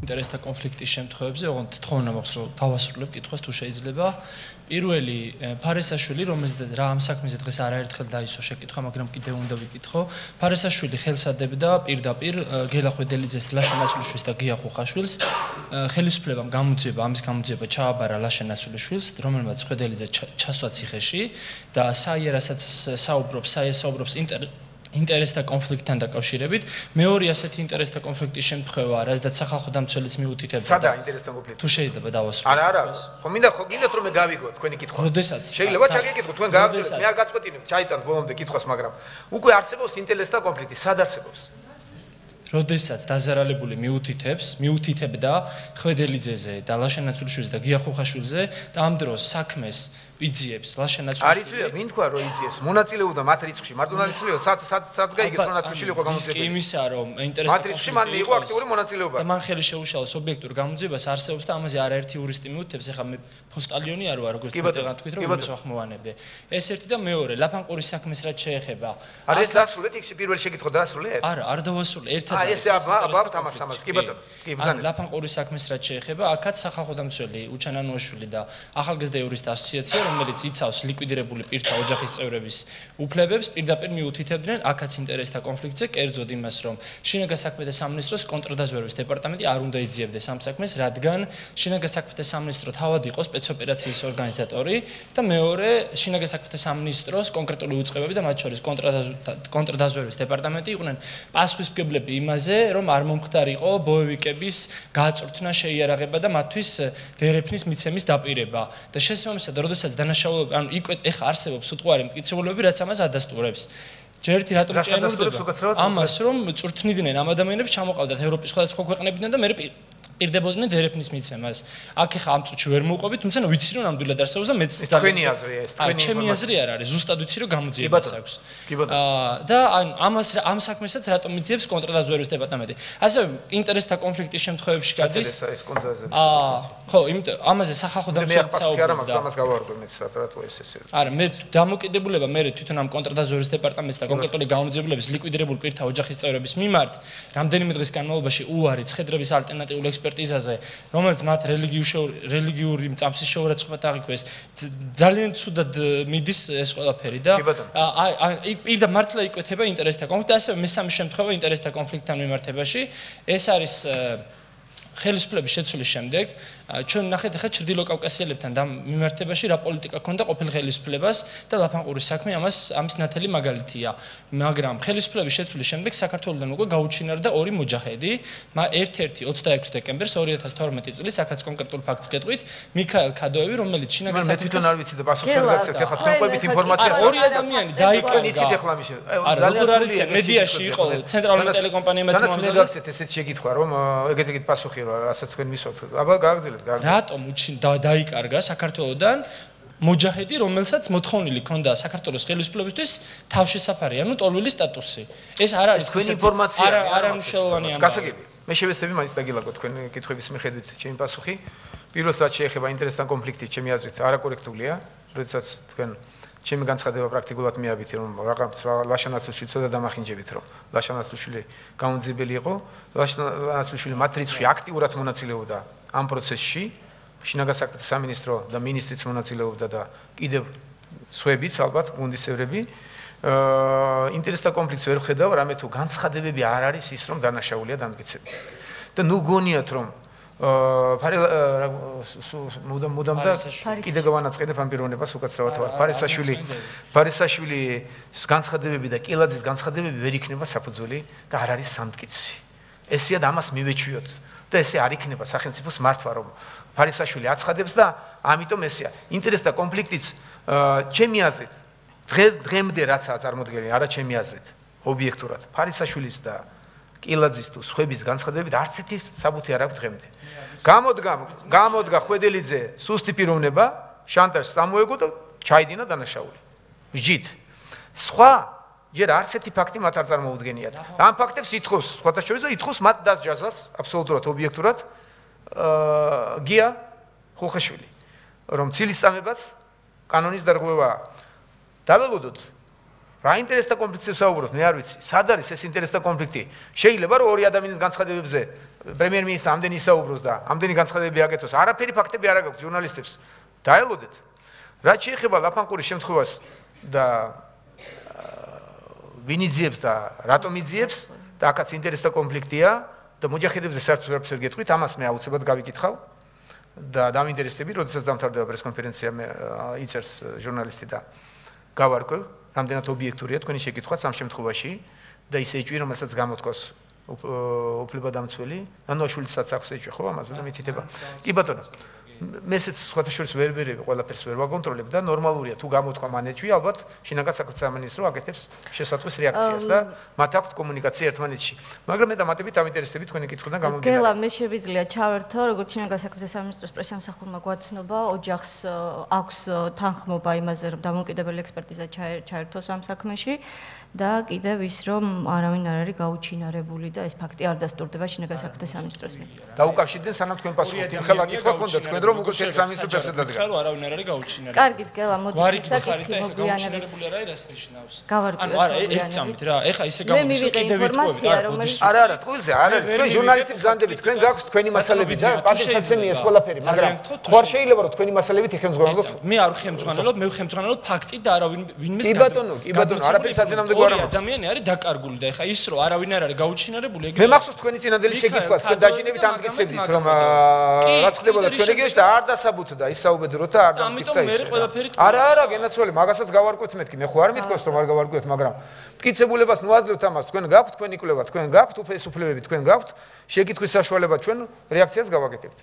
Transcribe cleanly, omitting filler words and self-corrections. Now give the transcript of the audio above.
ინტერესთა კონფლიქტის შემთხვევებზე, ოღონდ თხოვნა მაქვს რომ დავასრულებ კითხვას თუ შეიძლება. პირველი ფარესაშვილი, რომელზეც რა ამ საქმეზე დღეს არაერთხელ დაისვა შეკითხვა, მაგრამ კიდევ უნდა ვიკითხო. ფარესაშვილი ხელსადებდა პირდაპირ გელა ხვედელიძეს, ლაშა ნაცვლიშვილს და გია ხუხაშვილს. ხელისუფლებამ ამის გამოძიება ჩააბარა ლაშა ნაცვლიშვილს, რომელმაც ხვედელიძე ჩასვა ციხეში და საიარასაც საუბრობს ინტერესთა კონფლიქტთან დაკავშირებით. მეორე ასეთი ინტერესთა კონფლიქტის შემთხვევაა, რადგან სახალხო დამცველიც მიუთითებდა. სადაა ინტერესთა კონფლიქტი? თუ შეიძლება დავასრულო. არა, ხო მინდა რომ მე გავიგო თქვენი კითხვა. როდესაც შეიძლება ჩაგეკითხო, თქვენ გააგრძელებთ, მე არ გაწყვეტინებ, ჩაიტან ბოლომდე კითხვას, მაგრამ უკვე არსებობს ინტერესთა კონფლიქტი, სად არსებობს? როდესაც დაზარალებული მიუთითებდა ხვედელიძეზე და ლაშა ნაცვლიშვილზე და გია ხუხაშვილზე და ამ დროს საქმეს იძიებს ლაშა ნაცვლიშვილი. არის ვინ თქვა რომ იძიებს? მონაწილეობდა მათ რიცხვში, მარტო მონაწილეობდა, სად გაიგეთ რომ ნაცვლიშვილი იყო გამოძიებული? იმისა რომ ინტერესთა მათ რიცხვში მან იყო აქტიური მონაწილეობა. და მან ხელი შეუშალა ობიექტურ გამოძიებას არსებობს და ამაზე არაერთი იურისტი მიუთითებს, ეხლა მე ფოსტალიონი არ ვარ, როგორც თქვენ თქვით რომ იმას ვახმოვანებდე. ეს ერთი და მეორე, ლაფანყურის საქმეს რაც შეეხება. არა ეს დასრულეთ, იქ პირველი შეკითხვა დაასრულეთ? არა, არ დავასრულე, ერთად. აი ეს აბა თამას, კი ბატონო. კი ბრძანე. ლაფანყურის საქმეს რაც შეეხება, აქაც სახალხო დამცველი უჩანანუაშვილი და ახალგაზრდა იურისტთა ასოციაცია, რომელიც იცავს ლიკვიდირებული პირთა ოჯახის წევრების უფლებებს, პირდაპირ მიუთითებდნენ აქაც ინტერესთა კონფლიქტზე, კერძოდ იმას, რომ შინაგან საქმეთა სამინისტროს კონტრდაზვერვის დეპარტამენტი არ უნდა იძიებდეს ამ საქმეს, რადგან შინაგან საქმეთა სამინისტრო თავად იყო სპეცოპერაციის ორგანიზატორი და მეორე შინაგან საქმეთა სამინისტროს კონკრეტული უწყებები და მათ შორის კონტრდაზვერვის დეპარტამენტი იყვნენ პასუხისმგებლები იმაზე, რომ არ მომხდარიყო ბოევიკების გაწვრთნა, შეიარაღება და მათთვის დერეფნის მიცემის დაპირება და შესაბამისად, როდესაც დანაშაულები ანუ იქ ეხა არსებობს უტყუარი მტკიცებულებები, რაც ამას ადასტურებს. ჯერ ერთი რატომ ჭიანურდება? ამას რომ წვრთნიდნენ ამ ადამიანებს, ჩამოყავდათ ევროპის სხვადასხვა ქვეყნებიდან და მე პირდებოდნენ დერეფნის მიცემას. აქ ეხა ამ წუთში ვერ მოვყვები, თუმცა ვიცი რომ ნამდვილად არსებობს და მეც თქვენი აზრია ეს, თქვენი ჩემი აზრი არ არის, ზუსტად ვიცი რომ გამოძიებას აქვს. და ამ საქმესაც რატომ მიძიებს კონტრდაზვერვის დეპარტამენტი? ასევე ინტერესთა კონფლიქტის შემთხვევებში გადის. ხო, იმიტომ ამაზე სახალხო დამცველიც საუბრობდა. ამას გავარკვევ მეც რატო ეს. არა, მე დამოკიდებულება მე თვითონ ამ კონტრდაზვერვის დეპარტამენტს და კონკრეტული გამოძიებულების ლიკვიდირებულ პირთა ოჯახის წევრების მიმართ რამდენიმე დღის განმავლობაში უარი ცხედრების ალტერნატიული ექსპერტიზაზე, რომელიც მათ რელიგიური მწამსის შეურაცხყოფად აღიქვეს, ძალიან ცუდად მიდის ეს ყველაფერი და პირდა მართლა იკვეთება ინტერესთა კონფლიქტი, ასევე მესამე შემთხვევა ინტერესთა კონფლიქტთან მიმართებაში, ეს არის ხელისუფლების შეცვლის შემდეგ ჩვენ ნახეთ ახლა ჩრდილო კავკასიელებთან და მიმართებაში რა პოლიტიკა ქონდა ყოფილ ხელისუფლებას და ლაფანყურის საქმე ამის ნათელი მაგალითია. მაგრამ ხელისუფლების შეცვლის შემდეგ საქართველოსთან უკვე გაუჩინარდა ორი მოჯაჰედი, ერთ-ერთი 26 დეკემბერს 2012 წლის, აქაც კონკრეტულ ფაქტს გეტყვით, მიქაელ ქადოევი, რომელიც შინაგან საქმეთა მე თვითონ არ ვიცი და პასუხს ვერ გაგცეთ, ახლა თქვენ ყვებით ინფორმაციას. ორი ადამიანი დაიკარგა. იცით ახლა მიშე. ძალიან რთულია, მედიაში იყო ცენტრალური ტელეკომპანიებიც მომზადდა. ესეთ შეკითხვა რომ ეგეთი პასუხი რა, რასაც თქვენ მისვათ. აბა გააგრძელეთ. რატომ დაიკარგა საქართველოსთან მოჯაჰედი, რომელსაც მოთხოვნილი ქონდა საქართველოს ხელისუფლებისთვის თავშესაფარი, ანუ ტოლვილი სტატუსი. ეს არ არის თქვენი ინფორმაცია, არამშელოვანი ამბავი. გასაგები. მე შევეცდები მაინც დაგილაგო თქვენ კითხვების მიხედვით ჩემი პასუხი. პირველს რაც შეეხება ინტერესთან კონფლიქტი, ჩემი აზრით არაკორექტულია, როდესაც თქვენ ჩემი განცხადება პრაქტიკულად მიაბით რომ რაღაც ლაშა ნაცვლიშვილი ცოტა დამახინჯებით რომ ლაშა ნაცვლიშვილი გამოძიებელი იყო, ლაშა ნაცვლიშვილი მათ რიცხვში აქტიურად მონაწილეობდა ამ პროცესში, შინაგან საქმეთა სამინისტრო და მინისტრიც მონაწილეობდა და კიდევ სხვაებიც ალბათ გუნდის წევრები. ინტერესთა კონფლიქტს ვერ ხედავ, რამე თუ განცხადებები არ არის ის რომ დანაშაულია დამტკიცებული. და ნუ გონიათ რომ მუდამ და კიდე გავანაწყენებ ამ პიროვნებას უკაცრავად ვარ. ფარისაშვილის განცხადებები და კილაძის განცხადებები ვერ იქნება საფუძველი და არ არის სამტკიცი. ესეა და ამას მივეჩვიოთ და ესე არ იქნება სახელმწიფოს მართვა რომ ფარისაშვილი აცხადებს და ამიტომ ესეა. ინტერესთა კონფლიქტიც ჩემი აზრით დღემდე რაცაა წარმოდგენილი, არა ჩემი აზრით, ობიექტურად. ფარისაშვილის და კილაძის თუ სხვების განცხადებებით არც ერთი საბუთი არ აქვს დღემდე. გამოდგა ხვედელიძე სუსტი პიროვნება, შანტაჟს წამოეგო და ჩაიდინა დანაშაული. ვჯით. სხვა ჯერ არც ერთი ფაქტი მათ არ წარმოუდგენიათ. ამ ფაქტებს ითხოვს სხვათა შორის და ითხოვს მათ დასჯაზას აბსოლუტურად ობიექტურად გია ხუხაშვილი. რომ ცილისწამებაც კანონის დარღვევაა. დაველოდოთ რა ინტერესთა კონფლიქტზე საუბრობთ, მე არ ვიცი. სად არის ეს ინტერესთა კონფლიქტი? შეიძლება რომ ორი ადამიანის განცხადებებზე პრემიერ-მინისტრი ამდენი ისაუბროს და ამდენი განცხადებები აკეთოს. არაფერი ფაქტები არ აქვს ჟურნალისტებს. დაელოდეთ. რაც შეეხება ლაფანყურის შემთხვევას და ვინ იძიებს და რატომ იძიებს და აქაც ინტერესთა კონფლიქტია და მოჯაჰედებზე საერთოდ არაფერს ვერ გეტყვით, ამას მე აუცილებლად გავიკითხავ და დამინტერესდები, როდესაც დამთავრდება პრესკონფერენცია მე იწერს ჟურნალისტი და გავარკვევ, რამდენად ობიექტურია თქვენი შეკითხვაც ამ შემთხვევაში და ისე ეჭვი, რომელსაც გამოთქვას უფლებადამცველი, ანუაშვილისაც აქვს ეჭვი, ხო, ამაზე და მითითება. კი ბატონო. მესეც სხვათა შორის ვერ ყველაფერს ვერ ვაკონტროლებ და ნორმალურია თუ გამოთქვა მანეჭვი, ალბათ შინაგან საქმეთა სამინისტრო აკეთებს შესაძლოა რეაქციას და მათ აქვთ კომუნიკაცია ერთმანეთში. მაგრამ მე დამატებით ამინტერესდები თქვენი კითხვიდან გამომდინარე. გელა, მე შეგვიძლია ჩავერთო, როგორც შინაგან საქმეთა სამინისტროს პრესამსახურმა გვაცნობა, ოჯახს აქვს თანხმობა იმაზე, რომ დამოუკიდებელი ექსპერტიზა ჩაერთოს ამ საქმეში. და კიდევ ის რომ არავინ არ არის გაუჩინარებული და ეს ფაქტი არ დასტურდება შინაგან საქმეთა სამინისტროს მიერ. დაუკავშირდნენ სანამ თქვენ პასუხობთ. ხელა კითხვა გქონდა თქვენ რომ უკვე შენ სამინისტრო პერსონად დადგა. ხარო არავინ არ არის გაუჩინარებული. კარგით, გელა, მოდი საკითხი მოგვიანებით. არ არის რას ნიშნავს? ანუ არა, ერთ წამით რა, ეხა ისე გამომიშვა კიდევ ვიტყოდი. არა, ტყუილზე არ არის. თქვენ ჟურნალისტი ბრძანდებით, თქვენ გაქვთ თქვენი მასალები და პატივსაცემია ეს ყველაფერი, მაგრამ თუ არ შეიძლება რომ თქვენი მასალებით იხელმძღვანელოთ? მე არ ვხელმძღვანელობ, მე ვხელმძღვანელობ ფაქტი და არავინ ვინმეს კი ბატონო, არაფერი საწინააღმდეგო არ აქვს. ადამიანი არის დაკარგული და ეხა ის რომ არავინ არ არის გაუჩინარებული ეგრე. მე მახსოვს თქვენი წინანდელი შეკითხვას, თქვენ დაჟინებით ამტკიცებდით რომ რაც ხდებოდა თქვენ რეგიონში და არ დასაბუთდა და ისაუბედროთ და არ დამტკიცდა ის. არა, გენაცვალე, მაგასაც გავარკვევთ მეთქი, მე ხო არ მithქვას რომ არ გავარკვევთ, მაგრამ მტკიცებულებას მოაძლევთ ამას, თქვენ გაქვთ თქვენი კვლევა, თქვენ გაქვთ უფლებები, თქვენ გაქვთ შეკითხვის საშუალება, ჩვენ რეაქციას გავაკეთებთ.